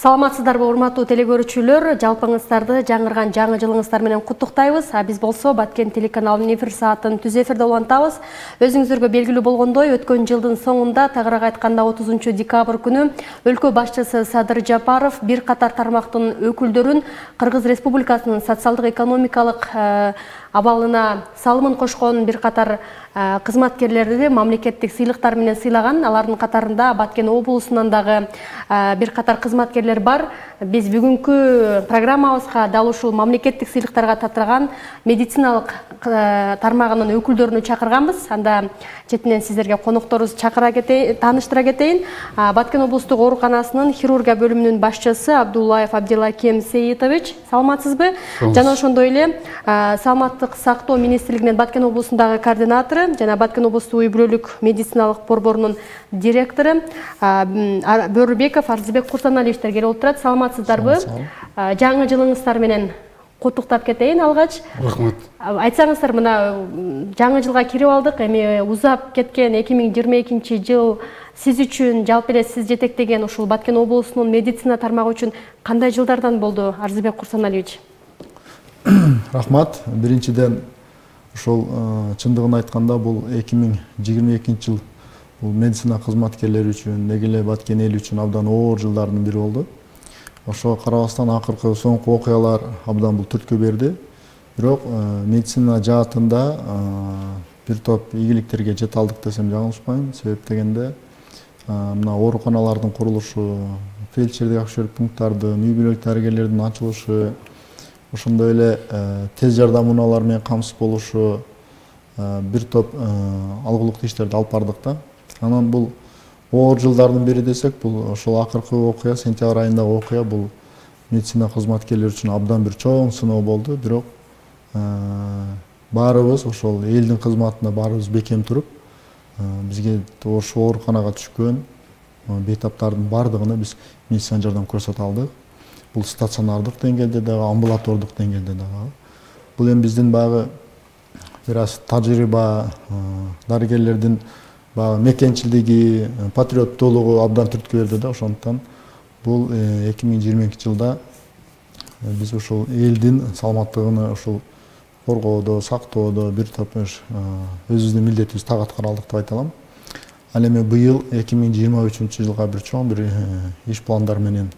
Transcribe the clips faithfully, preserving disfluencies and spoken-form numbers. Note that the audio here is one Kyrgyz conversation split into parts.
Саламатсыздарбы, урматтуу телекөрүүчүлөр, жалпыңыздарды жаңырган жаңы жылыңыздар менен куттуктайбыз. А биз болсо Баткен телеканалынын эфир саатын түз эфирде улантабыз. Өзүңүздөргө белгилүү болгондой, өткөн жылдын соңунда, тагыраак айтканда отузунчу декабрь күнү өлкө башчысы Садыр Жапаров бир катар тармактын өкүлдөрүн Кыргыз Республикасынын социалдык экономикалык абалына салымын кошкон бир катар кызматкерлерди мамлекеттик сыйлыктар менен сыйлаган. Алардын катарында Баткен облусунан дагы бир катар кызматкерлер бар. Биз бүгүнкү программабызга дал ушул мамлекеттик сыйлыктарга татырган медициналык тармагынын өкүлдөрүнү чакырганбыз. Анда четинен сиздерге конокторубузду чакыра кетейин, тааныштыра кетейин. Баткен облустук ооруканасынын хирургия бөлүмүнүн башчысы Абдуллаев Абдилакем Сейитович, саламатсызбы? Жана ошондой эле саламаттык сактоо министрлигинин Баткен облусундагы координатору жана Баткен облустук үй-бүлөлүк медициналык борборунун директору Бөрүбеков Арзыбек Курсаналиевичтер келип отурат. Саламатсыздарбы? Жаңы жылыңыздар менен куттуктап кетейин алгач. Рахмат. Айтсаңыздар, мына жаңы жылга кирип алдык. Эми узап кеткен эки миң жыйырма экинчи жыл сиз үчүн, жалпы эле сиз жетектеген ушул Баткен облусунун медицина тармагы үчүн кандай жылдардан болду, Арзыбек Курсаналиевич? Рахмат. Биринчиден ошол чындыгын айтканда бул эки миң жыйырма экинчи жыл бул медицина кызматкерлери үчүн, деги эле Баткен эли үчүн абдан оор жылдардын бири болду. Ошого карабастан акыркы соңку окуялар абдан бул түрткү берди. Бирок медицина жаатында бир топ ийгиликтерге жете алдык десем жаңылышпайм. Себеп дегенде мына ооруканалардын курулушу, фельдшердик акушерлик пункттардын, үй-бүлөлүк дарыгерлердин ачылышы, ошондой эле тез жардам унаалары менен камсыз болушу, бир топ алгылыктуу иштерди алып бардык да. Анан бул оор жылдардын бири десек, бул ошол акыркы окуя, сентябрь айындагы окуя бул медицина кызматкерлери үчүн абдан бир чоң сыноо болду. Бирок баарыбыз ошол элдин кызматында баарыбыз бекем туруп, бизге ошол ооруканага түшкөн бейтаптардын бардыгына биз медицина жардам көрсөтө алдык. Бул стационардык деңгээлде дагы, амбулатордук деңгээлде дагы. Бул эми биздин багы бир аз тажрыйба, дарыгерлердин багы мекенчилдиги, патриоттуулугу абдан түрткү берди да. Ошондуктан бул эки миң жыйырма экинчи жылда биз ушул элдин саламаттыгын ушул коргоодо, сактоодо бир топ өзүбүздүн милдетибизди так аткара алдык деп айта алам. Ал эми быйыл эки миң жыйырма үчүнчү жылга бир чоң бир иш пландар менен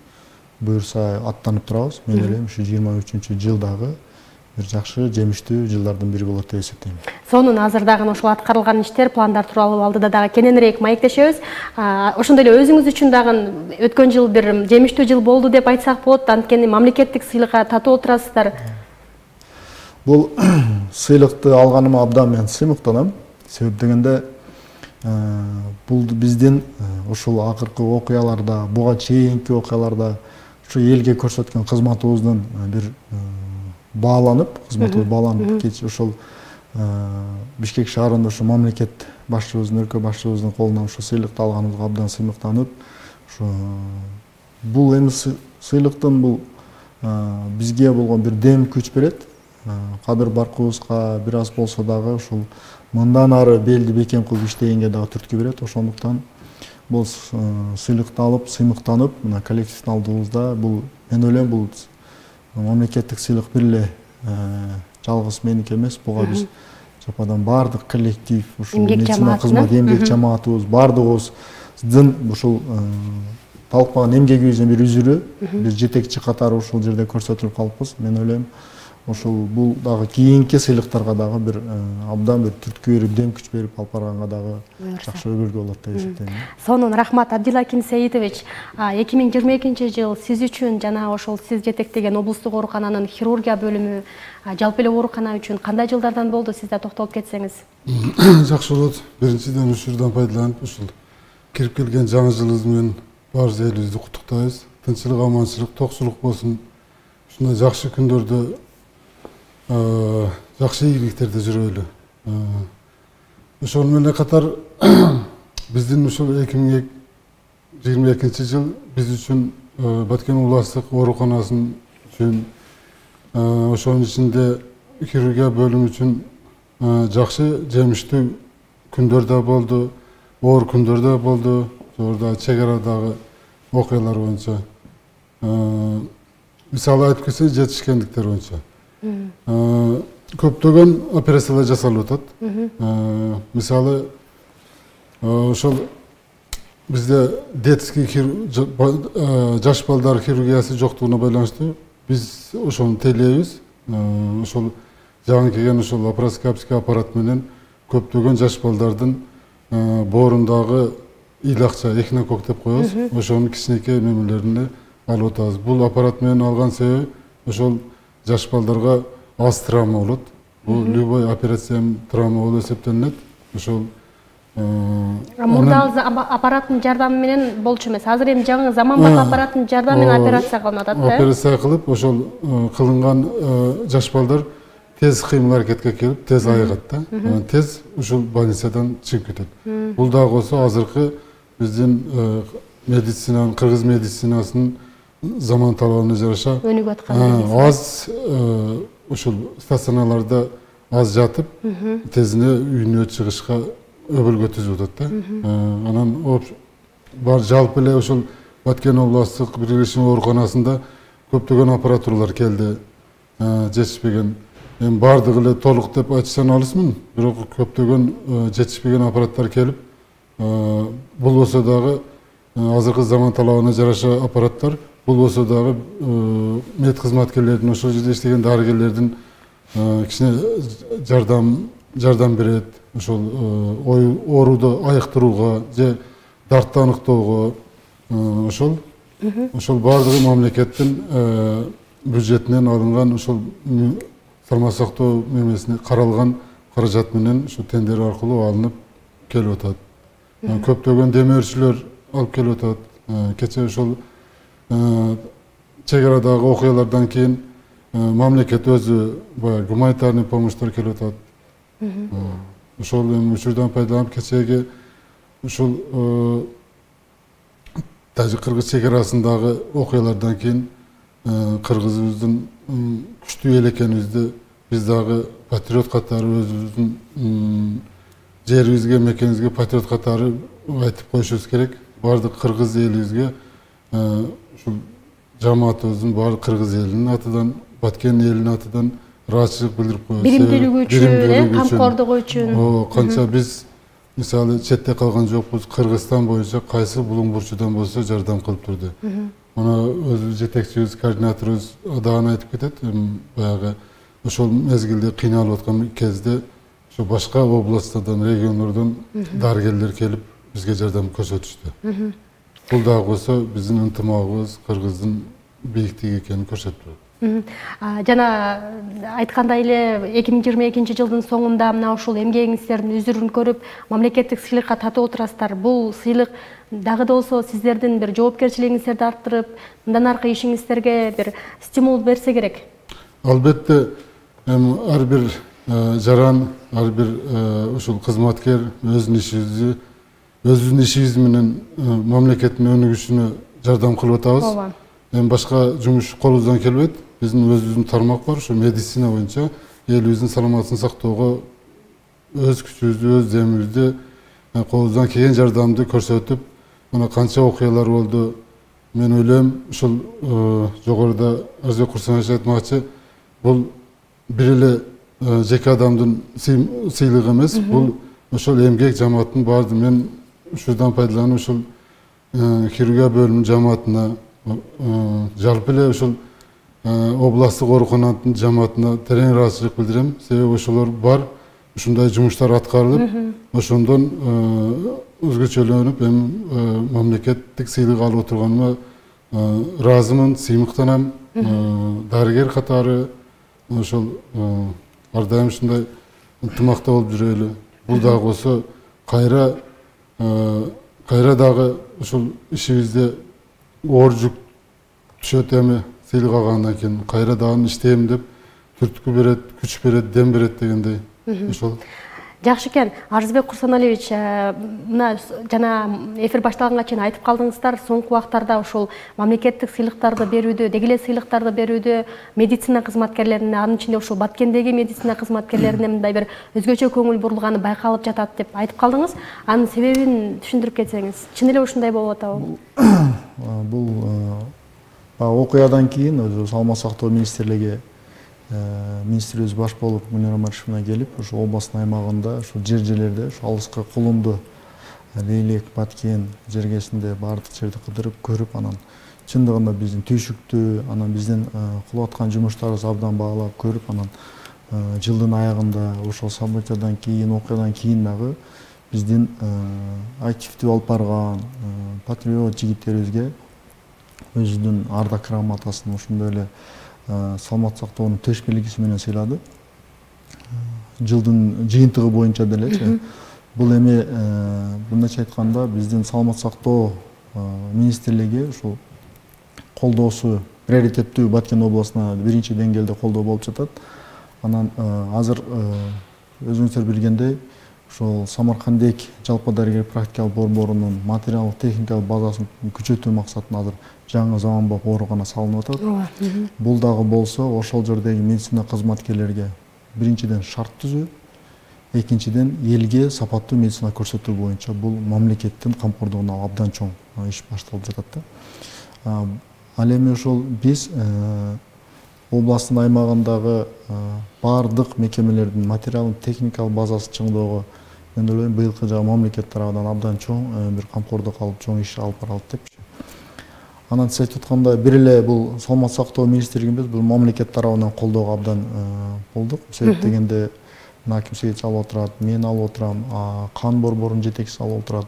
буюрса аттанып турабыз. Мен ойлойм, ушу жыйырма үчүнчү жылдагы бир жакшы жемиштүү жылдардын бири болот деп эсептейм. Сонун азыр дагы ошол аткарылган иштер, пландар тууралуу алдыда дагы кененирээк маектешебиз. Ошондой эле өзүңүз үчүн дагы өткөн жыл бир жемиштүү жыл болду деп айтсак болот. Анткени мамлекеттик сыйлыкка татуу отурасыздар. Бул сыйлыкты алганыма абдан мен сыймыктанам. Себеп дегенде бул биздин ушул акыркы окуяларда, буга чейинки окуяларда ушу элге көрсөткөн кызматыбыздын бир бааланып, кызматыбыз бааланып, кеч ошол Бишкек шаарында ушу мамлекет башчыбыздын, өлкө башчыбыздын колунан ушу сыйлыкты алганыбызга абдан сыймыктанып, ушу бул эми сыйлыктын бул бизге болгон бир дем күч берет. Кадыр баркыбызга бир аз болсо дагы ушул мындан ары белди бекем кылып иштегенге дагы түрткү берет. Ошондуктан бул сыйлыкты алып, сыймыктанып, мына коллективдин алдыбызда бул мен ойлойм бул мамлекеттик сыйлык бир эле жалгыз меники эмес. Буга биз жападан бардык коллектив, ушул медицина кызмат эмгек жамаатыбыз, бардыгыбыздын ушул талкмаган эмгегибиздин бир үзүрү, бир жетекчи катары ушул жерде көрсөтүлүп калыппыз. Мен ойлойм, ошол бул дагы кийинки сыйлыктарга дагы бир абдан бир түрткү берип, дем күч берип алып барганга дагы жакшы өбөлгө болот деп эсептейм. Сонун рахмат, Абдилаким Сейитович. эки миң жыйырма экинчи жыл сиз үчүн жана ошол сиз жетектеген облустук оорукананын хирургия бөлүмү, жалпы эле оорукана үчүн кандай жылдардан болду, сиз да токтолуп кетсеңиз? Жакшы болот. Биринчиден ушурдан пайдаланып, ушул кирип келген жаңы жылыбыз менен баарыбыз элибизди куттуктайбыз. Тынччылык, аманчылык, токчулук болсун. Ушундай жакшы күндөрдө жакшы ийгиликтерде жүрөлү. Ошол менен катар биздин ушул эки миң жыйырма экинчи жыл биз үчүн Баткен областык ооруканасынын үчүн, ошонун ичинде хирургия бөлүмү үчүн жакшы жемиштүү күндөр да болду, оор күндөр да болду. Жогоруда чек арадагы окуялар боюнча мисалы айтып кетсек жетишкендиктер боюнча көптөгөн операциялар жасалып атат. Мисалы ошол бизде детский жаш балдар хирургиясы жоктугуна байланыштуу биз ошону тейлейбиз. Ошол жаңы келген ошол лапароскопический аппарат менен көптөгөн жаш балдардын боорундагы ыйлакча эхинокок деп коебуз. Ошонун кичинекей мемелерине алып атабыз. Бул аппарат менен алган себеби ошол жаш балдарга аз травма болот. Бул любой операция травма болуп эсептелинет. Ошол мурда аппараттын жардамы менен болчу эмес. Азыр эми жаңы заманбап аппараттын жардамы менен операция кылынып атат да. Операция кылып, ошол кылынган жаш балдар тез кыймыл аракетке келип, тез айыгат да. Тез ушул больницадан чыгып кетет. Бул дагы болсо азыркы биздин медицинанын, кыргыз медицинасынын заман талабына жараша өнүгүп аткан. Аз ушул стационарларда аз жатып, тезине үйүнө чыгышка өбөлгө түзүп атат да. Анан бар жалпы эле ушул Баткен областтык биргелешме ооруканасында көптөгөн аппаратуралар келди. Жетишпеген. Эми бардыгы эле толук деп айтсам алысмын, бирок көптөгөн жетишпеген аппараттар келип, бул болсо дагы азыркы заман талабына жараша аппараттар, бул болсо дагы мед кызматкерлердин, ошол жерде иштеген дарыгерлердин кичине жардам жардам берет. Ошол ооруду айыктырууга же дартты аныктоого ошол ошол бардыгы мамлекеттин бюджетинен алынган ошол салмак сактоо мемесине каралган каражат менен ушу тендер аркылуу алынып келип атат. Көптөгөн демөөрчүлөр алып келип атат. Кече ошол чек арадагы окуялардан кийин мамлекет өзү баягы гуманитарный помощьтор келип атат. Ошол эми учурдан пайдаланып кечеги ушул Тажик-Кыргыз чек арасындагы окуялардан кийин кыргызыбыздын күчтүү эл экенибизди биз дагы патриот катары өзүбүздүн жерибизге, мекенибизге патриот катары айтып коюшубуз керек. Бардык кыргыз элибизге ушул жамаатыбыздын баардык кыргыз элинин атынан, Баткен элинин атынан ыраазычылык билдирип коебуз. Биримдүүлүгү үчүн, камкордугу үчүн. Канча биз мисалы четте калган жокпуз, Кыргызстан боюнча кайсы булуң бурчудан болсо жардам кылып турду. Мына өзү жетекчибиз, координаторубуз дагы айтып кетет. Баягы ошол мезгилде кыйналып аткан кезде ошо башка областтардан, региондордон дарыгерлер келип бизге жардам көрсөтүштү. Бул дагы болсо биздин ынтымагыбыз Кыргыздын бийиктиги экенин көрсөтүп турат. Жана айткандай эле эки миң жыйырма экинчи жылдын соңунда мына ушул эмгегиңиздердин үзүрүн көрүп, мамлекеттик сыйлыкка татып отурасыздар. Бул сыйлык дагы да болсо сиздердин бир жоопкерчилигиңиздерди арттырып, мындан аркы ишиңиздерге бир стимул берсе керек. Албетте, эми ар бир жаран, ар бир ушул кызматкер өзүнүн ишибизди, өзүбүздүн ишибиз менен мамлекеттин өнүгүшүнө жардам кылып атабыз. Эми башка жумуш колубуздан келбейт. Биздин өзүбүздүн тармак бар, ушу медицина боюнча элибиздин саламатын сактоого өз күчүбүздү, өз демибизди, колубуздан келген жардамды көрсөтүп, мына канча окуялар болду. Мен ойлойм, ушул жогоруда Арзбек Курсанович айтмакчы, бул бир эле жеке адамдын сыйлыгы эмес, бул ошол эмгек жамааттын баардыгы. Мен ушурдан пайдаланып ушул хирургия бөлүмүнүн жамаатына, жалпы эле ушул областтык оорукананын жамаатына терең ыраазычылык билдирем. Себеби ошолор бар, ушундай жумуштар аткарылып, ошондон өзгөчөлөнүп, эми мамлекеттик сыйлык алып отурганыма ыраазымын, сыймыктанам. Дарыгер катары ошол ар дайым ушундай ынтымакта болуп жүрөлү. Бул дагы болсо кайра кайра дагы ушул ишибизде оор жүк түшөт. Эми сыйлык алгандан кийин кайра дагы иштейм деп түрткү берет, күч берет, дем берет дегендей. Ошол. Жакшы экен. Арзбек Курсаналиевич, мына жана эфир башталганга чейин айтып калдыңыздар, соңку убактарда ушул мамлекеттик сыйлыктарды берүүдө, деги эле сыйлыктарды берүүдө медицина кызматкерлерине, анын ичинде ушул Баткендеги медицина кызматкерлерине мындай бир өзгөчө көңүл бурулганы байкалып жатат деп айтып калдыңыз. Анын себебин түшүндүрүп кетсеңиз. Чын эле ушундай болуп атабы? Бул окуядан кийин өзү саламат сактоо министрлиги министрибиз баш болуп Мунира Маришевна келип, ошо областын аймагында, ошо жер жерлерде, ошо алыска Кулунду, Лейлек, Баткен жергесинде баардык жерди кыдырып көрүп, анан чындыгында биздин түйшүктүү, анан биздин кылып аткан жумуштарыбызды абдан баалап көрүп, анан жылдын аягында ошол событиядан кийин, окуядан кийин дагы биздин активдүү алып барган патриот жигиттерибизге өзүнүн ардак грамотасын ошондой эле саламат сактоонун төш белгиси менен сыйлады. Жылдын жыйынтыгы боюнча делечи. Бул эми мындайча айтканда биздин саламат сактоо министрлиги ушул колдоосу приоритеттүү Баткен областына биринчи деңгээлде колдоо болуп жатат. Анан азыр өзүңүздөр билгендей, ошол Самаркандек жалпы дарыгер практикалык борборунун материалдык техникалык базасын күчөтүү максатында азыр жаңы заманбап оорукана салынып атат. Бул дагы болсо ошол жердеги медицина кызматкерлерге биринчиден шарт түзүү, экинчиден элге сапаттуу медицина көрсөтүү боюнча бул мамлекеттин камкордугуна абдан чоң иш башталып жатат да. Ал эми ошол биз областтын аймагындагы баардык мекемелердин материалдык техникалык базасын чыңдоого мен ойлойм быйылкы жагы мамлекет тарабынан абдан чоң бир камкордук алып чоң иш алып баралат депчи. Анан сиз айтып аткандай бир эле бул саламат сактоо министрлиги эмес, бул мамлекет тарабынан колдоого абдан болдук. Себеп дегенде Аким Сейитович алып отурат, мен алып отурам, кан борборунун жетекчиси алып отурат.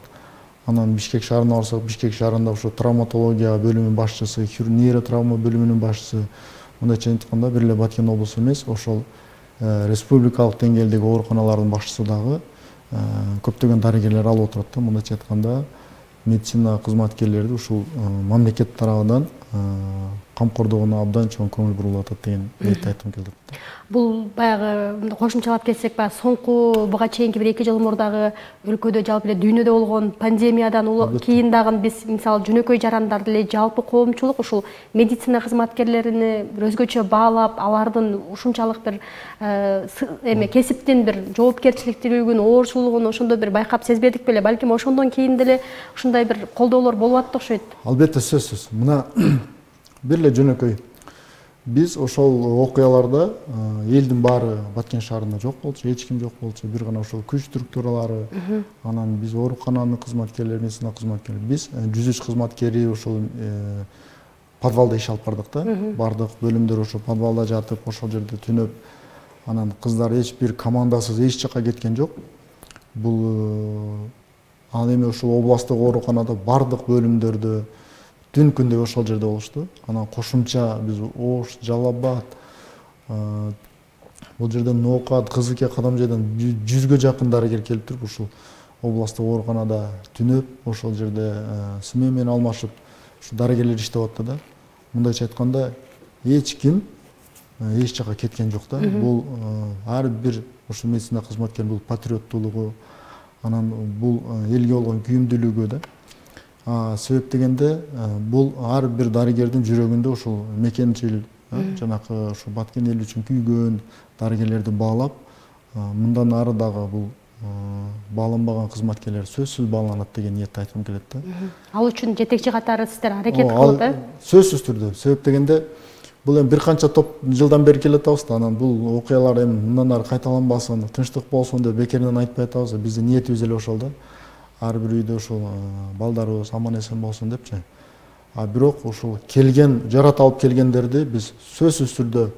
Анан Бишкек шаарына барсак, Бишкек шаарында ошо травматология бөлүмүнүн башчысы, нейротравма бөлүмүнүн башчысы, мындайча айтканда бир эле Баткен облусу эмес, ошол республикалык деңгээлдеги ооруканалардын башчысы дагы көптөгөн дарыгерлер алып отурат да. Мындайча айтканда медицина кызматкерлерди ушул мамлекет тарабынан камкордугуна абдан чоң көңүл бурулуп атат деген ниетти айткым келди. Бул баягы кошумчалап кетсек, баягы соңку буга чейинки бир эки жыл мурдагы өлкөдө жалпы эле дүйнөдө болгон пандемиядан кийин дагы биз мисалы жөнөкөй жарандар деле жалпы коомчулук ушул медицина кызматкерлерини бир өзгөчө баалап, алардын ушунчалык бир эме кесиптин бир жоопкерчиликтүүлүгүн, оорчулугун ошондой бир байкап сезбедик беле? Балким ошондон кийин деле ушундай бир колдоолор болуп атты окшойт. Албетте, сөзсүз. Мына бир эле жөнөкөй биз ошол окуяларда элдин баары Баткен шаарында жок болчу, эч ким жок болчу, бир гана ошол күч структуралары, анан биз оорукананын кызматкерлери, медицина кызматкерлери, биз жүз үч кызматкери ошол подвалда иш алып бардык да. Бардык бөлүмдөр ошо подвалда жатып, ошол жерде түнөп, анан кыздар эч бир командасыз эч жакка кеткен жок. Бул ал эми ошол областтык ооруканада бардык бөлүмдөрдө түн күндөй ошол жерде болушту. Анан кошумча биз Ош, Жалал Абад, бул жерден Ноокат, Кызылке, Кадамжайдан жүзгө жакын дарыгер келип туруп ушул областтык ооруканада түнөп, ошол жерде смена менен алмашып, ушу дарыгерлер иштеп атты да. Мындайча айтканда эч ким эч жакка кеткен жок да. Бул ар бир ошо медицина кызматкеринин бул патриоттуулугу, анан бул элге болгон күйүмдүүлүгү да. Себеп дегенде бул ар бир дарыгердин жүрөгүндө ушул мекенчил, жанакы ушу Баткен эл үчүн күйгөн дарыгерлерди баалап, мындан ары дагы бул бааланбаган кызматкерлер сөзсүз бааланат деген ниетти айткым келет да. Ал үчүн жетекчи катары сиздер аракет кылып, э? Сөзсүз түрдө. Себеп дегенде бул эми бир канча топ жылдан бери келе атабыз да, анан бул окуялар эми мындан ары кайталанбасын, тынчтык болсун деп бекеринен айтпай атабыз. Биздин ниетибиз эле ошол да. Ар бир үйдө ушул балдарыбыз аман эсен болсун депчи. А бирок ушул келген, жарат алып келгендерди биз сөзсүз түрдө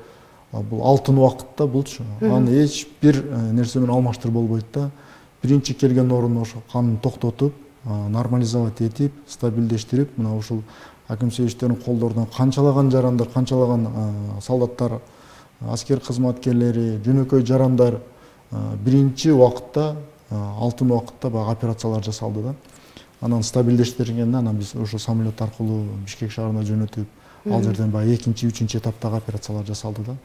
бул алтын убакытта булчу. Аны эч бир нерсе менен алмаштырып болбойт да. Биринчи келген орунда ошо канын токтотуп, нормализовать этип, стабилдештирип, мына ушул Аким Сейитовичтердин колдорунан канчалаган жарандар, канчалаган солдаттар, аскер кызматкерлери, жөнөкөй жарандар биринчи убакытта, алтын убакытта баягы операциялар жасалды да. Анан стабилдештиргенден анан биз ошо самолет аркылуу Бишкек шаарына жөнөтүп, ал жерден баягы экинчи, үчүнчү этаптагы операциялар жасалды да.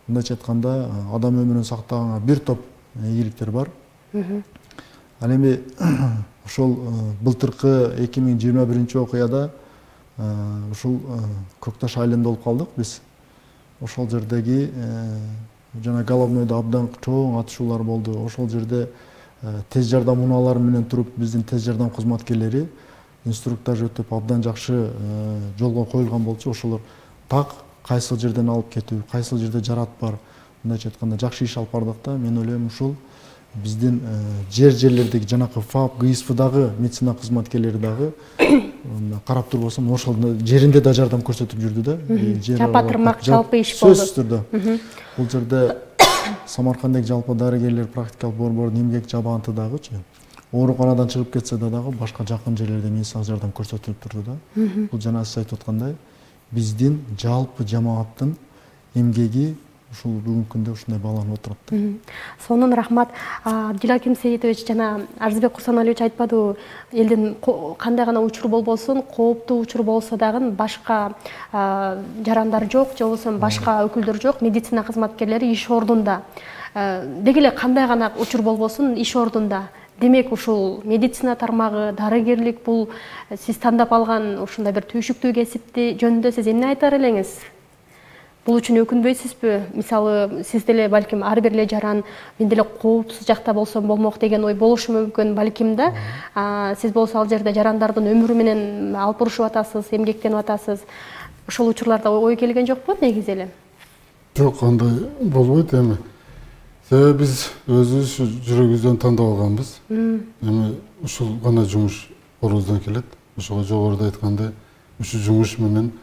Мындайча айтканда, адам өмүрүн сактаганга бир топ ийгиликтер бар. Ал эми ошол былтыркы эки миң жыйырма биринчи окуяда ушул Көкташ айылында болуп калдык биз. Ошол жердеги жана головнойдо абдан чоң атышуулар болду. Ошол жерде тез жардам унаалары менен туруп биздин тез жардам кызматкерлери инструктаж өтүп абдан жакшы жолго коюлган болчу, ошолор так кайсыл жерден алып кетүү, кайсыл жерде жарат бар, мындайча айтканда жакшы иш алып бардык да. Мен ойлойм ушул биздин жер жерлердеги жанакы ФАП, ГИСПдагы медицина кызматкерлери дагы карап турбосом ошол жеринде да жардам көрсөтүп жүрдү да. Жапа-тырмак жалпы иш болду. Сөзсүз түрдө. Бул жерде Самарканддагы жалпы дарыгерлер практикалык борбордун эмгек жабаантыдагычы ооруканадан чыгып кетсе да дагы башка жакын жерлерде медициналык жардам көрсөтүлүп турду да. Бул жана сиз айтып аткандай биздин жалпы жамааттын эмгеги ушул бүгүнкү күндө ушундай бааланып отурат. Сонун рахмат. Дилаким Сейитович жана Арзыбек Курсаналиевич айтпадыбы, элдин кандай гана учур болбосун, кооптуу учур болсо дагы башка жарандар жок, же болбосо башка өкүлдөр жок, медицина кызматкерлери иш ордунда. Деги эле кандай гана учур болбосун иш ордунда. Демек ушул медицина тармагы, дарыгерлик бул сиз тандап алган ушундай бир түйшүктүү кесипти жөнүндө сиз эмне айтар элеңиз? Бул үчүн өкүнбөйсүзбү? Мисалы, сиз деле балким ар бир эле жаран мен деле кооптуз жакта болсом болмок деген ой болушу мүмкүн балким да. Сиз болсо ал жерде жарандардын өмүрү менен алпурушуп атасыз, эмгектенип атасыз. Ошол учурларда ой келген жокпу негизи эле? Жок, андай болбойт эми. Себеби биз өзүбүз жүрөгүбүздөн тандап алганбыз. Эми ушул гана жумуш колубуздан келет. Ошого жогоруда айткандай, ушул жумуш менен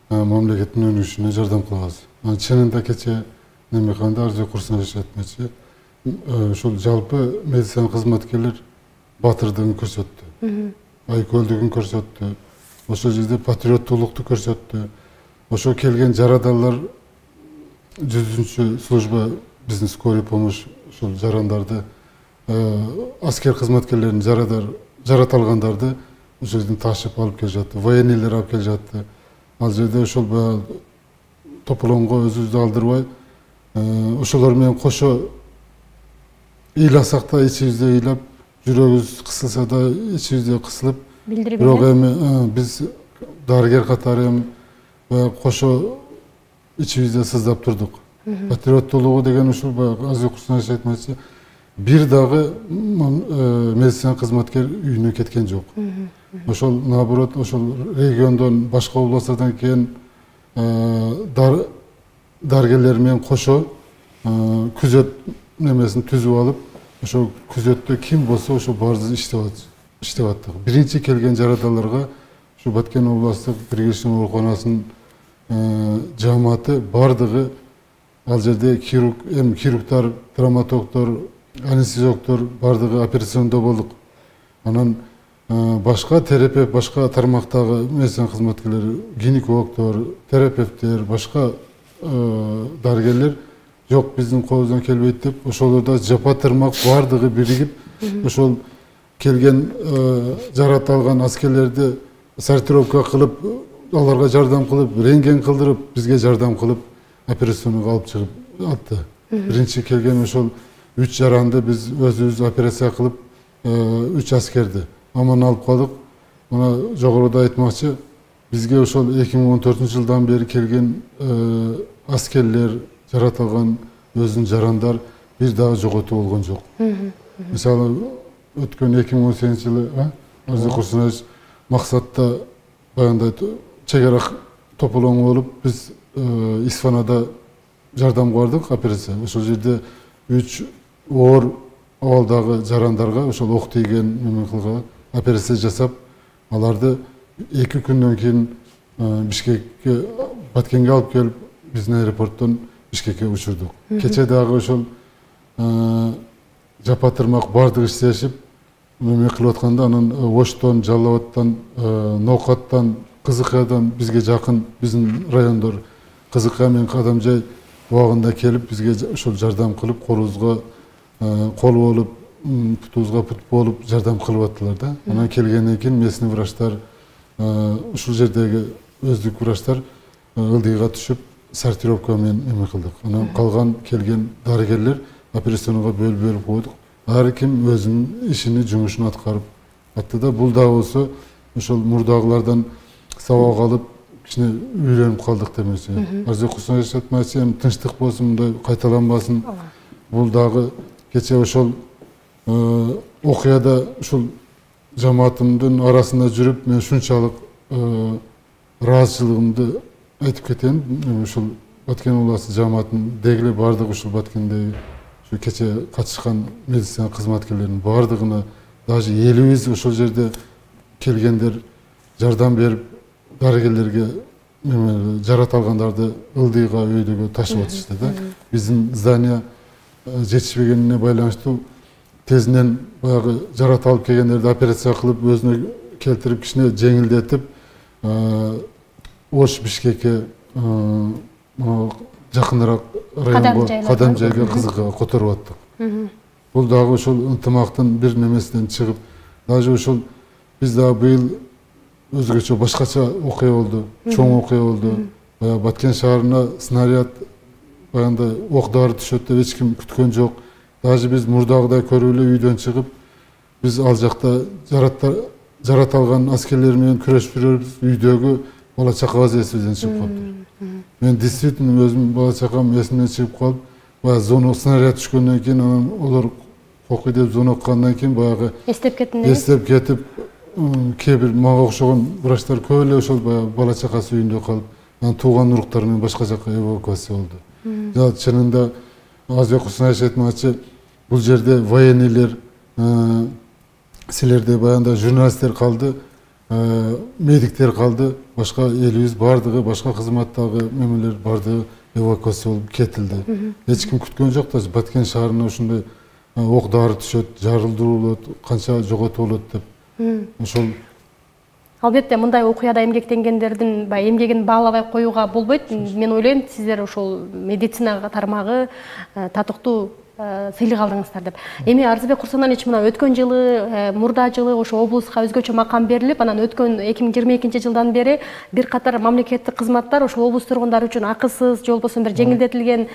мамлекеттин өнүгүшүнө жардам кылабыз. Чынында кече неме кандай Арзыбек Курсаналиевич айтмакчы, ушул жалпы медицина кызматкерлер батырдыгын көрсөттү, айкөлдүгүн көрсөттү, ошол жерде патриоттуулукту көрсөттү. Ошо келген жарадалар жүзүнчү служба биздин скорый помощь ушул жарандарды, аскер кызматкерлерин жарадар жарата алгандарды ошол жерден ташып алып келе жатты, военныйлер алып келе жатты. Ал жерде ошол баягы тополоңго өзүбүздү алдырбай, ошолор менен кошо ыйласак да ичибизде ыйлап, жүрөгүбүз кысылса да ичибизде кысылып, бирок эми биз дарыгер катары эми баягы кошо ичибизде сыздап турдук. Патриоттуулугу деген ушул баягы Арзыбек Курсаналиевич айтмакчы, бир дагы медицина кызматкер үйүнө кеткен жок. Ошол наоборот, ошол региондон, башка областтардан келген дарыгерлер менен кошо күзөт немесин түзүп алып, ошол күзөттө ким болсо ошо баарыбыз иштеп аттык. Биринчи келген жарадаларга ушу Баткен областтык Киргизстан ооруканасынын жамааты бардыгы ал жерде хирург, эми хирургтар, травматологдор, анестезиологдор бардыгы операциондо болдук. Анан башка терапевт, башка тармактагы медицина кызматкерлери, гинекологдор, терапевттер, башка дарыгерлер жок, биздин колубуздан келбейт деп, ошолорда жапа-тырмак бардыгы биригип, ошол келген жарат алган аскерлерди сортировка кылып, аларга жардам кылып, рентген кылдырып, бизге жардам кылып, операционга алып чыгып атты. Биринчи келген ошол үч жаранды биз өзүбүз операция кылып, үч аскерди аман алып калдык. Мына жогоруда айтмакчы, бизге ошол эки миң он төртүнчү жылдан бери келген аскерлер, жарат алган өзүнүн жарандар бир дагы жоготуу болгон жок. Мисалы, өткөн эки миң он сегизинчи жылы Арзыбек Курсаналиевич максатта баягындай чек ара тополоң болуп, биз Исфанада жардамга бардык, операция. Ошол жерде үч оор абалдагы жарандарга ошол ок тийген неме кылган операция жасап, аларды эки күндөн кийин Бишкекке, Баткенге алып келип, биздин аэропорттон Бишкекке учурдук. Кече дагы ошол жапа-тырмак бардыгы иштешип, неме кылып атканда, анан Оштон, Жалал Абадтан, Ноокаттан, Кызыкаядан бизге жакын биздин райондор Кызыкая менен Кадамжай убагында келип, бизге ошол жардам кылып, колубузга кол болуп, путубузга пут болуп жардам кылып аттылар да. Анан келгенден кийин местный врачтар, ушул жердеги өздүк врачтар ылдыйга түшүп, сортировка менен эме кылдык. Анан калган келген дарыгерлер операционга бөлүп бөлүп койдук. Ар ким өзүнүн ишини, жумушун аткарып атты да. Бул да болсо ошол мурдагылардан сабак алып, кичине үйлөнүп калдык демекчи. Арзыбек Курсаналиевич айтмакчы, эми тынчтык болсун, мындай кайталанбасын. Бул дагы кече ошол окуяда ушул жамаатымдын арасында жүрүп мен ушунчалык ыраазычылыгымды айтып кетейин. Ушул Баткен областы жамаатынын дегиле бардыгы ушул Баткендеги ушу кече катышкан медицина кызматкерлеринин бардыгына, даже элибиз ошол жерде келгендер жардам берип, дарыгерлерге жарат алгандарды ылдыйга өйдөгө ташып атышты да. Биздин здания жетишпегенине байланыштуу тезинен баягы жарат алып келгендерди операция кылып, өзүнө келтирип, кичине жеңилдетип, Ош Бишкекке жакыныраак районго, кадам жайга кызыкка которуп аттык. Бул дагы ошол ынтымактын бир немесинен чыгып, даже ошол биз дагы быйыл өзгөчө башкача окуя болду, чоң окуя болду. Баягы Баткен шаарына снаряд баягындай ок дары түшөт деп эч ким күткөн жок. Даже биз мурдагыдай көрүп эле үйдөн чыгып, биз ал жакта жарат алган аскерлер менен күрөшүп жүрөбүз. Үйдөгү бала чака вазиятыбыздан чыгып калыптыр. Мен действительно өзүм бала чакам эсимден чыгып калып, баягы зона снаряд түшкөндөн кийин анан олар окуй деп звоноткандан кийин баягы эстеп кеттиңиз. Эстеп кетип, кээ бир мага окшогон врачтар көп эле ошол баягы бала чакасы үйүндө калып, анан тууган уруктары менен башка жакка эвакуация болду. Жана чынында Азбек Кусаевич айтмакчы, бул жерде военныйлер, силерде баягындай журналисттер калды, медиктер калды, башка элибиз бардыгы, башка кызматтагы мемелер бардыгы эвакуация болуп кетилди. Эч ким күткөн жок да, Баткен шаарына ушундай ок дары түшөт, жарылдыруу болот, канча жоготуу болот деп. Ошол албетте мындай окуяда эмгектенгендердин баягы эмгегин баалабай коюуга болбойт. Мен ойлойм, сиздер ошол медицина тармагы татыктуу сыйлык алдыңыздар деп. Эми Арзыбек Курсаналич, мына өткөн жылы, мурда жылы ошо облуска өзгөчө макам берилип, анан өткөн эки миң жыйырма экинчи жылдан бери бир катар мамлекеттик кызматтар ошол облус тургундары үчүн акысыз, же болбосо бир жеңилдетилген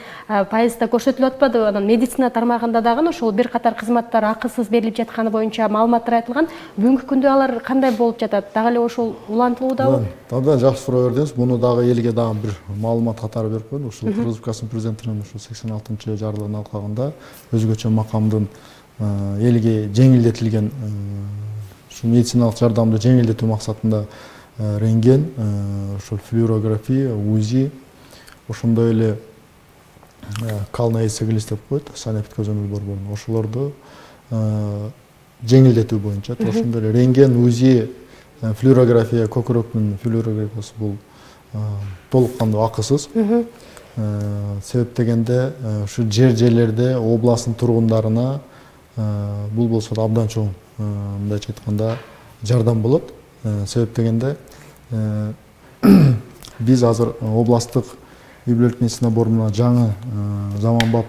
пайызда көрсөтүлүп атпады. Анан медицина тармагында дагы ошол бир катар кызматтар акысыз берилип жатканы боюнча маалыматтар айтылган. Бүгүнкү күндө алар кандай болуп жатат? Дагы эле ошол улантылуудабы? Абдан жакшы суроо бердиңиз. Муну дагы элге дагы бир маалымат катары берип коеюн. Ушул Кыргыз Республикасынын президентинин ушул сексен алтынчы жарлыгын алкагында өзгөчө макамдын элге жеңилдетилген ушу медициналык жардамды жеңилдетүү максатында рентген, ошол флюорография, УЗИ, ошондой эле калноэцеглис деп коет, санэпидкозондун борборун, ошолорду жеңилдетүү боюнча, ошондой эле рентген, УЗИ, флюорография, көкүрөктүн флюорографиясы бул толук кандуу акысыз. Себеп дегенде ушу жер жерлерде областтын тургундарына бул болсо да абдан чоң, мындайча айтканда, жардам болот. Себеп дегенде биз азыр областтык үй бүлөлүк медицина борборуна жаңы заманбап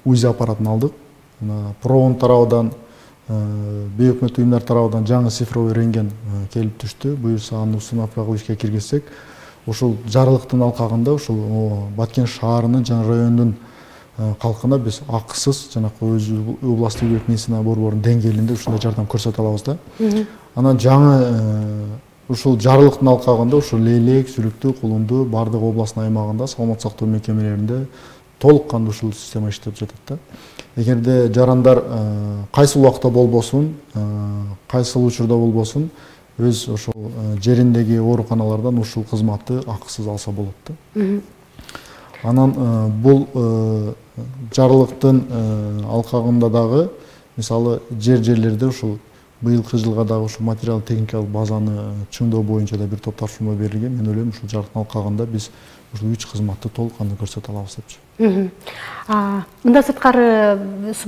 УЗИ аппаратын алдык. Проон тарабынан, бейөкмөт уюмдар тарабынан жаңы цифровой рентген келип түштү. Буюрса аны установка ишке киргизсек, ошол жарлыктын алкагында ошол Баткен шаарынын жана райондун калкына биз акысыз жанакы өзү областтык үй бүлөлүк медицина борборунун деңгээлинде ушундай жардам көрсөтө алабыз да. Анан жаңы ушул жарлыктын алкагында ушул Лейлек, Сүлүктүү, Кулунду бардык областтын аймагында саламаттык сактоо мекемелеринде толук кандуу ушул система иштеп жатат да. Эгерде жарандар кайсыл убакта болбосун, кайсыл учурда болбосун, өз ошол жериндеги ооруканалардан ушул кызматты акысыз алса болот да. Анан бул жарлыктын алкагында дагы, мисалы жер жерлерде ушул быйылкы жылга дагы ушул материалдык техникалык базаны чыңдоо боюнча да бир топ тапшырма берилген. Мен ойлойм, ушул жарлыктын алкагында биз ушул үч кызматты толук кандуу көрсөтө алабыз депчи. Мында сырткары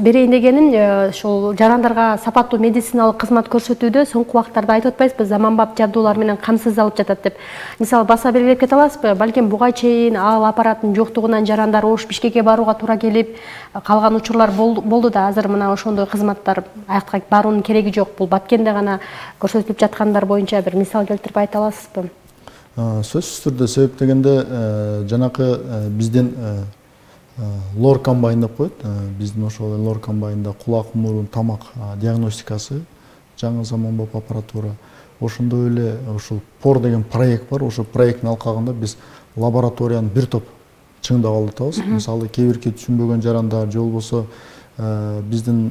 берейин дегеним, ошол жарандарга сапаттуу медициналык кызмат көрсөтүүдө соңку убактарда айтып атпайсызбы, заманбап жабдуулар менен камсыздалып жатат деп. Мисалы баса белгилеп кете аласызбы? Балким буга чейин ал аппараттын жоктугунан жарандар Ош Бишкекке барууга туура келип калган учурлар болду да, азыр мына ошондой кызматтар аякка баруунун кереги жок. Бул Баткенде гана көрсөтүлүп жаткандар боюнча бир мисал келтирип айта аласызбы? Сөзсүз түрдө, себеп дегенде жанакы биздин лор комбайн деп коет. Биздин ошол лор комбайнда кулак, мурун, тамак диагностикасы, жаңы заманбап аппаратура. Ошондой эле ушул пор деген проект бар. Ошол проекттин алкагында биз лабораторияны бир топ чыңдап алып атабыз. Мисалы кээ бирки түшүнбөгөн жарандар же болбосо биздин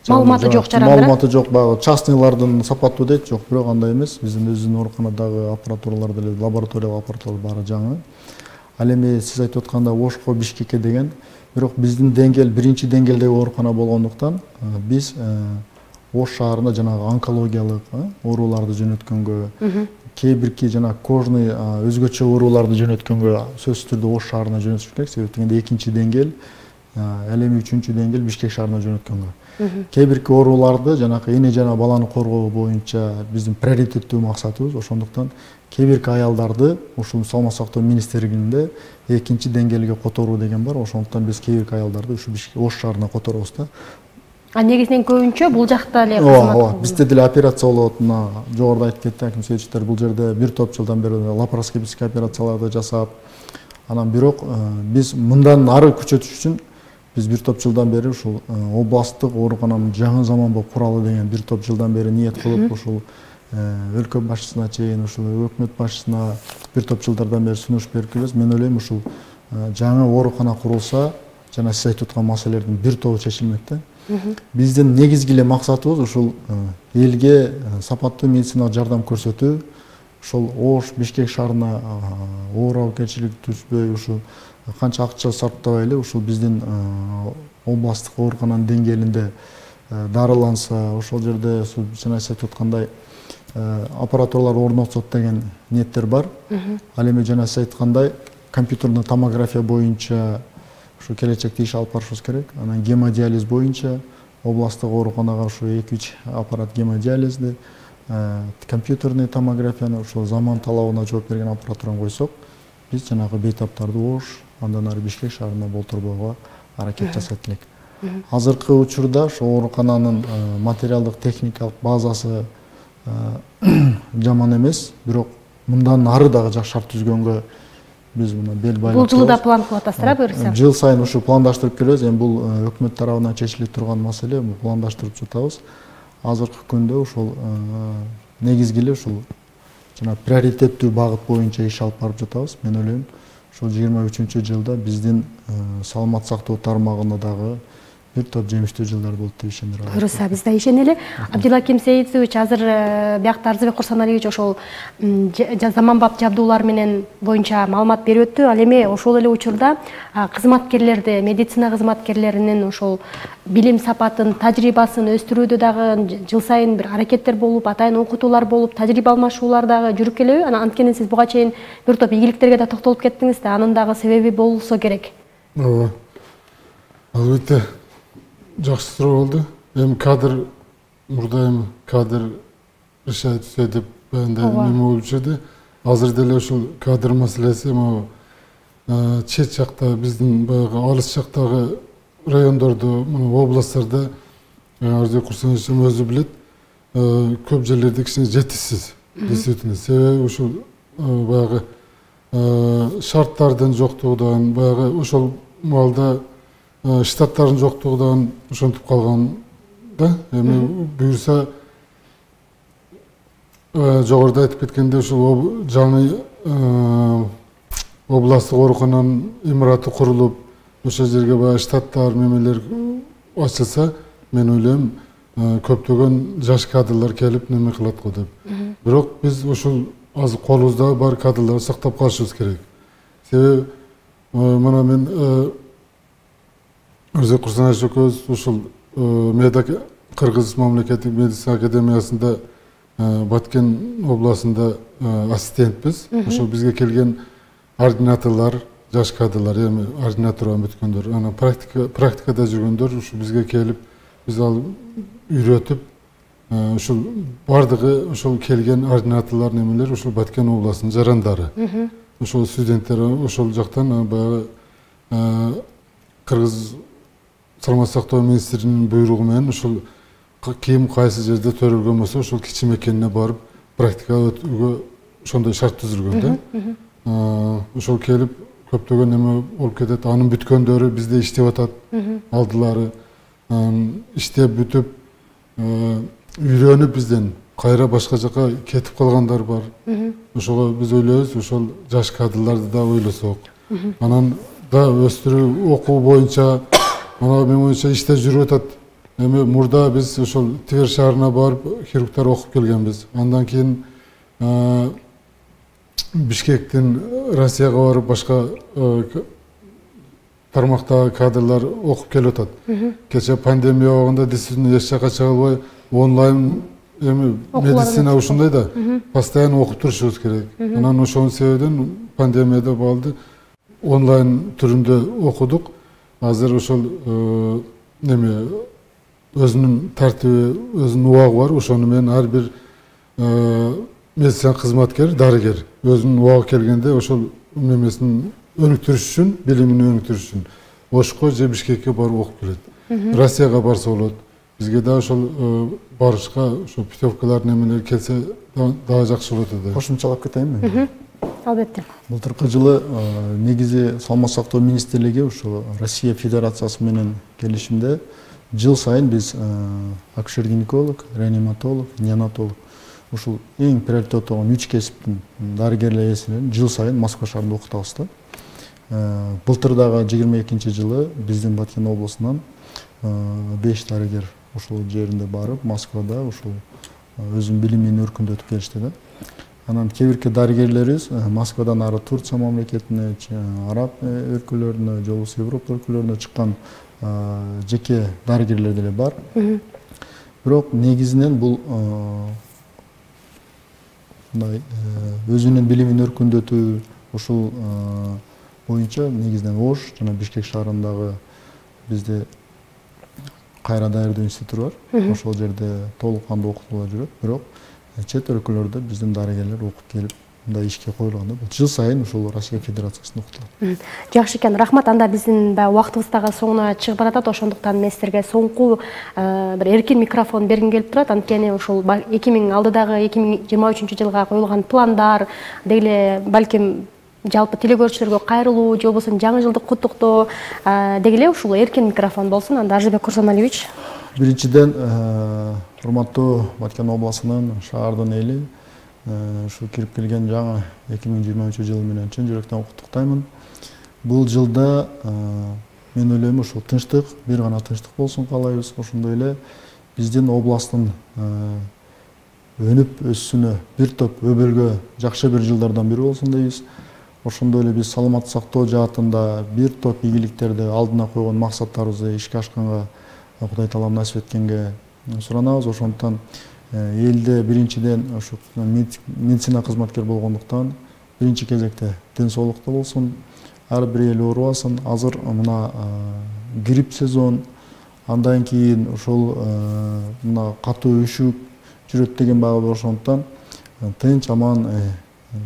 маалыматы жок жарандар. Маалыматы жок, баягы частныйлардын сапаттуу дейт, жок, бирок андай эмес. Биздин өзүбүздүн ооруканадагы аппаратуралар деле, лабораториялык аппаратуралар баары жаңы. Ал эми сиз айтып атканда Ошко, Бишкекке деген, бирок биздин деңгээл биринчи деңгээлдеги оорукана болгондуктан биз Ош шаарында жанагы онкологиялык ооруларды жөнөткөнгө, кээ бирки жана кожный өзгөчө ооруларды жөнөткөнгө сөзсүз түрдө Ош шаарына жөнөтүш керек. Себеби дегенде экинчи деңгээл, ал эми үчүнчү деңгээл Бишкек шаарына жөнөткөнгө. Кээ бирки ооруларды жанагы эне жана баланы коргоо боюнча биздин приоритеттүү максатыбыз. Ошондуктан кээ бирки аялдарды ушул саламат сактоо министрлигинде экинчи деңгээлге которуу деген бар. Ошондуктан биз кээ бирки аялдарды ушу Ош шаарына которобуз да. А негизинен көбүнчө бул жакта эле кызмат. Ооба, бизде деле операция болот. Мына жогоруда айтып кетти аким Сейитовичтер, бул жерде бир топ жылдан бери лапароскопический операцияларды жасап, анан бирок биз мындан ары күчөтүш үчүн биз бир топ жылдан бери ушул областтык оорукананын жаңы заманбап куралы деген бир топ жылдан бери ниет кылып, ушул өлкө башчысына чейин, ушул өкмөт башчысына бир топ жылдардан бери сунуш берип келебиз. Мен ойлойм, ушул жаңы оорукана курулса, жана сиз айтып аткан маселелердин бир тобу чечилмек да. Биздин негизги эле максатыбыз ушул элге сапаттуу медициналык жардам көрсөтүү. Ошол Ош, Бишкек шаарына ооруканчылык түшпөй, ушул канча акча сарптабай эле ушул биздин областтык оорукананын деңгээлинде дарыланса, ошол жерде жана сиз айтып аткандай аппаратуралар орнотсот деген ниеттер бар. Ал эми жана сиз айткандай компьютерный томография боюнча ушу келечекте иш алып барышыбыз керек. Анан гемодиализ боюнча областтык ооруканага ушу эки үч аппарат гемодиализди, компьютерный томографияны ушул заман талабына жооп берген аппаратураны койсок, биз жанагы бейтаптарды Ош, андан ары Бишкек шаарына болтурбоого аракет жасайт элек. Азыркы учурда ошо оорукананын материалдык техникалык базасы жаман эмес, бирок мындан ары дагы жакшы шарт түзгөнгө биз мына бел байлап. Бул жылы да план кылып атасыздар, буюрса? Жыл сайын ушу пландаштырып келебиз. Эми бул өкмөт тарабынан чечилип турган маселе, бул пландаштырып жатабыз. Азыркы күндө ушул негизги эле ушул жана приоритеттүү багыт боюнча иш алып барып жатабыз. Мен ойлойм, ушул жыйырма үчүнчү жылда биздин саламат сактоо тармагында дагы бир топ жемиштүү жылдар болот деп ишендиребиз. Буюрса, биз да ишенели. Абдилаким Сейитович, азыр биякта Арзыбек Курсаналиевич ошол заманбап жабдуулар менен боюнча маалымат берип өттү. Ал эми ошол эле учурда кызматкерлерди, медицина кызматкерлеринин ошол билим сапатын, тажрыйбасын өстүрүүдө дагы жыл сайын бир аракеттер болуп, атайын окутуулар болуп, тажрыйба алмашуулар дагы жүрүп келеби? Анан анткени сиз буга чейин бир топ ийгиликтерге да токтолуп кеттиңиз да, анын дагы себеби болсо керек. Ооба. Албетте жакшы суроо болду. Эми кадр, мурда эми кадр решать все деп баягындай неме болуп жүрдү. Азыр деле ушул кадр маселеси могу чет жакта, биздин баягы алыс жактагы райондордо, мына областтарда Арзыбек Курсанович өзү билет, көп жерлерде кичине жетишсиз. Действительно, себеби ушул баягы шарттардын жоктугунан, баягы ошол маалда штаттардын жоктугунан ошентип калган да. Эми буюрса жогоруда айтып кеткендей ушул жаңы областтык оорукананын имараты курулуп, ошол жерге баягы штаттар, немелер ачылса, мен ойлойм, көптөгөн жаш кадрлар келип неме кылат го деп. Бирок биз ушул азыр колубузда бар кадрларды сактап калышыбыз керек. Себеби мына мен Арзыбек Курсанович экөөбүз ушул Медак Кыргыз мамлекеттик медицина академиясында Баткен областында ассистентпиз. Ошол бизге келген ординаторлор, жаш кадрлар, эми ординатурадан бүткөндөр, анан практика практикада жүргөндөр ушу бизге келип, биз ал үйрөтүп, ушул бардыгы ушул келген ординаторлор немелер ушул Баткен областынын жарандары. Ошол студенттер ошол жактан баягы Кыргыз саламат сактоо министринин буйругу менен ушул ким кайсы жерде төрөлгөн болсо ошол кичи мекенине барып практика өтүүгө ошондой шарт түзүлгөн да. Ошол келип көптөгөн неме болуп кетет. Анын бүткөндөрү бизде иштеп атат. Алдылары иштеп бүтүп үйрөнүп бизден кайра башка жака кетип калгандар бар. Ошого биз ойлойбуз, ошол жаш кадрларды да ойлосок. Анан да өстүрүү окуу боюнча, ана мен боюнча иштер жүрүп атат. эми мурда биз ошол Тver шаарына барып хирургдар окуп келгенбиз. Андан кийин Бишкектен Россияга барып башка тармактагы кадрлар окуп келип атат. Кече пандемия убагында действительно эч жака чыга албай онлайн эми медицина ушундай да постоянно окуп турушубуз керек. Анан ошонун себебинен пандемияда балды онлайн түрүндө окудук. Азыр ошол неме өзүнүн тартиби, өзүнүн убагы бар. Ошону менен ар бир медицина кызматкер, дарыгер өзүнүн убагы келгенде ошол немесин өнүктүрүш үчүн, билимин өнүктүрүш үчүн Ошко же Бишкекке барып окуп келет. Россияга барса болот. Бизге да ошол барышка ошо путевкалар немелер келсе дагы жакшы болот да. Кошумчалап кетейинби? Албетте. Былтыркы жылы негизи саламат сактоо министрлиги ошо Россия Федерациясы менен келишимде жыл сайын биз акушер-гинеколог, реаниматолог, неонатолог ушул эң приоритет болгон үч кесиптин дарыгерлер эсебинен жыл сайын Москва шаарында окутабыз да. Былтыр дагы жыйырма экинчи жылы биздин Баткен облусунан беш дарыгер ошол жеринде барып, Москвада ошол өзүнүн билимин өркүндөтүп келишти да. Анан кээ бирки дарыгерлерибиз Москвадан ары Турция мамлекетине, Араб өлкөлөрүнө, же болбосо Европа өлкөлөрүнө чыккан жеке дарыгерлер деле бар. Бирок негизинен бул мындай өзүнүн билимин өркүндөтүү ушул боюнча негизинен Ош жана Бишкек шаарындагы бизде кайра даярдоо институту бар. Ошол жерде толук кандуу окутуулар жүрөт. Бирок чет өлкөлөрдө биздин дарыгерлер окуп келип мындай ишке коюлган да. Жыл сайын ушул Россия Федерациясында окутулат. Жакшы экен, рахмат. Анда биздин баягы убактыбыз дагы соңуна чыгып баратат. Ошондуктан мен силерге соңку бир эркин микрофон бергим келип турат. Анткени ушул эки миң алдыдагы эки миң жыйырма үчүнчү жылга коюлган пландар, деги балким жалпы телегөрүүчүлөргө кайрылуу, же болбосо жаңы жылдык куттуктоо деги эле ушул эркин микрофон болсун. Анда Ажыбек Курсаналиевич. Биринчиден, урматтуу Баткен обласынын, шаардын эли ушу кирип келген жаңы эки миң жыйырма үчүнчү жыл менен чын жүрөктөн куттуктаймын. Бул жылда мен ойлойм ушул тынчтык, бир гана тынчтык болсун каалайбыз. Ошондой эле биздин областтын өнүп өссүнө бир топ өбөлгө жакшы бир жылдардан бири болсун дейбиз. Ошондой эле биз саламаттык сактоо жаатында бир топ ийгиликтерди алдына койгон максаттарыбызды ишке ашканга Кудай Таалам насип эткенге суранабыз. Ошондуктан элде биринчиден ушу медицина кызматкер болгондуктан биринчи кезекте ден соолукта болсун, ар бир эл оорубасын. Азыр мына грипп сезон, андан кийин ушул мына катуу үшүк жүрөт деген баа бар. Ошондуктан тынч аман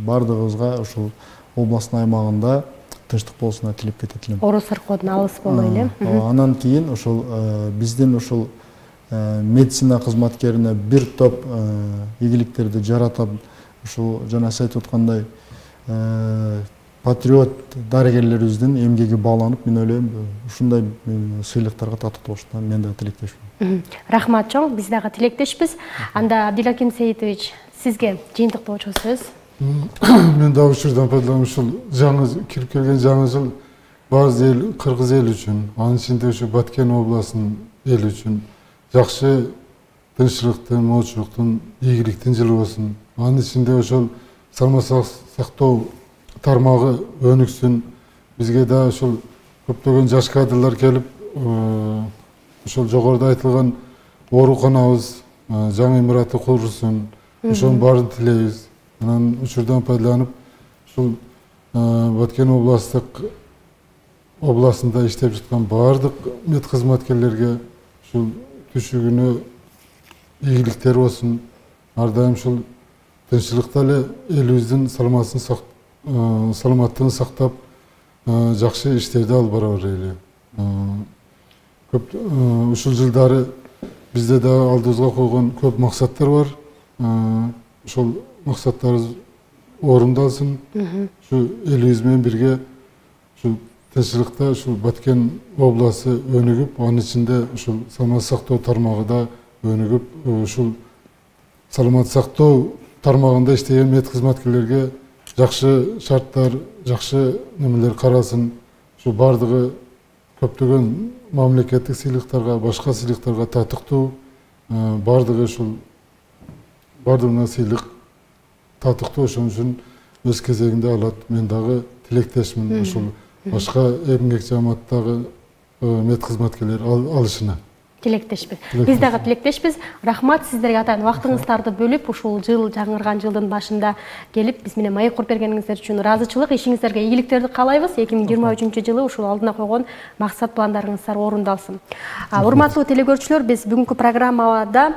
бардыгыбызга ушул областын аймагында тынчтык болсуна тилеп кетет элем. Оору сыркоодон алыс болой эле. Анан кийин ушул биздин ушул медицина кызматкерине бир топ ийгиликтерди жаратып, ушул жана сиз айтып аткандай патриот дарыгерлерибиздин эмгеги бааланып, мен ойлойм ушундай сыйлыктарга татык болушуна мен да тилектешмин. Рахмат чоң, биз дагы тилектешпиз. Анда Абдилаким Сейитович, сизге жыйынтыктоочу сөз. Мен да ушурдан пайдаланып ушул жаңы кирип келген жаңы жыл баардык эл, кыргыз эл үчүн, анын ичинде ушу Баткен областынын эл үчүн жакшы тынччылыктын, моочулуктун, ийгиликтин жылы болсун. Анын ичинде ошол саламаттык сактоо тармагы өнүксүн. Бизге да ошол көптөгөн жаш кадрлар келип, ошол жогоруда айтылган ооруканабыз, жаңы имараты курулсын. Ошонун баарын тилейбиз. Анан учурдан пайдаланып, ушул Баткен областтык областында иштеп жаткан баардык мед кызматкерлерге ушул түшүгүнө ийгиликтер болсун. Ар дайым ушул тынччылыкта эле элибиздин саламаттыгын сактап, жакшы иштерди алып бара берели. Көп ушул жылдары бизде да алдыбызга койгон көп максаттар бар. Ошол максаттарыбыз орундалсын. Ушу элибиз менен бирге ушул тынччылыкта ушул Баткен областы өнүгүп, анын ичинде ушул саламаттык сактоо тармагы да өнүгүп, ушул саламаттык сактоо тармагында иштеген мед кызматкерлерге жакшы шарттар, жакшы немелер каралсын. Ушу бардыгы көптөгөн мамлекеттик сыйлыктарга, башка сыйлыктарга татыктуу, бардыгы ушул бардыгына сыйлык татыктуу, ошон үчүн өз кезегинде алат. Мен дагы тилектешмин ушул башка эмгек жамааттагы мед кызматкерлер алышына. Тилектешпиз. Биз дагы тилектешпиз. Рахмат сиздерге атайын вактыңыздарды бөлүп, ушул жыл жаңырган жылдын башында келип биз менен маек куруп бергениңиздер үчүн ыраазычылык, ишиңиздерге ийгиликтерди каалайбыз. эки миң жыйырма үчүнчү жылы ушул алдына койгон максат пландарыңыздар орундалсын. Урматтуу телекөрүүчүлөр, биз бүгүнкү программада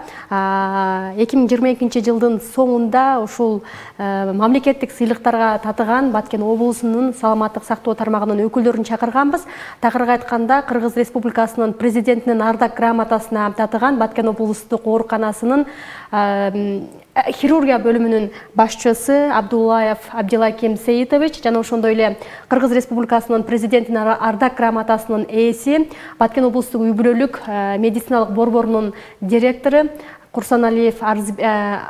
эки миң жыйырма экинчи жылдын соңунда ушул мамлекеттик сыйлыктарга татыган Баткен облусунун саламаттык сактоо тармагынын өкүлдөрүн чакырганбыз. Такырга айтканда, Кыргыз Республикасынын президентинин ардак грамотасына татыган Баткен облустук ооруканасынын хирургия бөлүмүнүн башчысы Абдуллаев Абдилаким Сейитович жана ошондой эле Кыргыз Республикасынын президентинин ардак грамотасынын ээси, Баткен облустук үй бүлөлүк медициналык борборунун директору Курсаналиев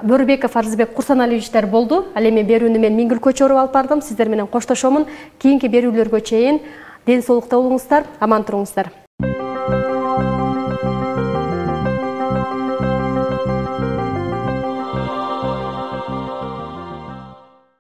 Бөрбеков Арзыбек Курсаналиевичтер болду. Ал эми берүүнү мен Миңгүл Көчөрүп алып бардым. Сиздер менен коштошомун. Кийинки берүүлөргө чейин ден соолукта болуңуздар, аман туруңуздар.